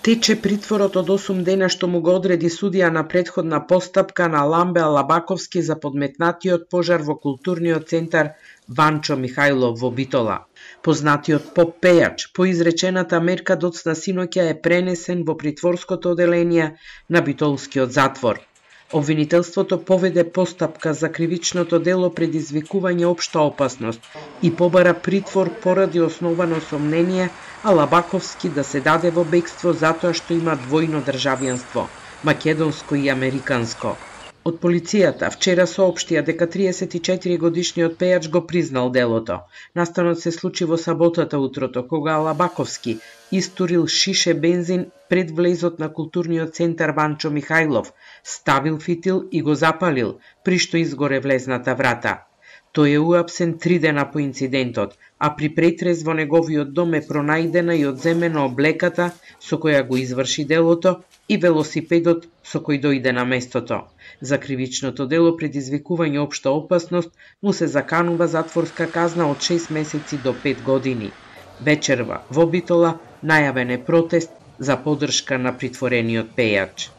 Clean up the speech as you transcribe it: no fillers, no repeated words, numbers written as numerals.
Тече притворот од 8 дена што му го одреди судија на претходна постапка на Ламбе Алабаковски за подметнатиот пожар во културниот центар Ванчо Михајлов во Битола. Познатиот поп пејач по изречената мерка доцна синоќа е пренесен во притворското оделение на Битолскиот затвор. Обвинителството поведе постапка за кривичното дело предизвикување општа опасност и побара притвор поради основано сомнение Алабаковски да се даде во бегство затоа што има двојно државјанство, македонско и американско. Од полицијата вчера соопштија дека 34-годишниот пејач го признал делото. Настанот се случи во саботата утрото, кога Алабаковски истурил шише бензин пред влезот на културниот центар Ванчо Михајлов, ставил фитил и го запалил, при што изгоре влезната врата. Тој е уапсен 3 дена по инцидентот, а при претрез во неговиот дом е пронајдена и одземена облеката со која го изврши делото и велосипедот со кој дојде на местото. За кривичното дело предизвикување општа опасност му се заканува затворска казна од 6 месеци до 5 години. Вечерва во Битола најавен е протест за поддршка на притворениот пејач.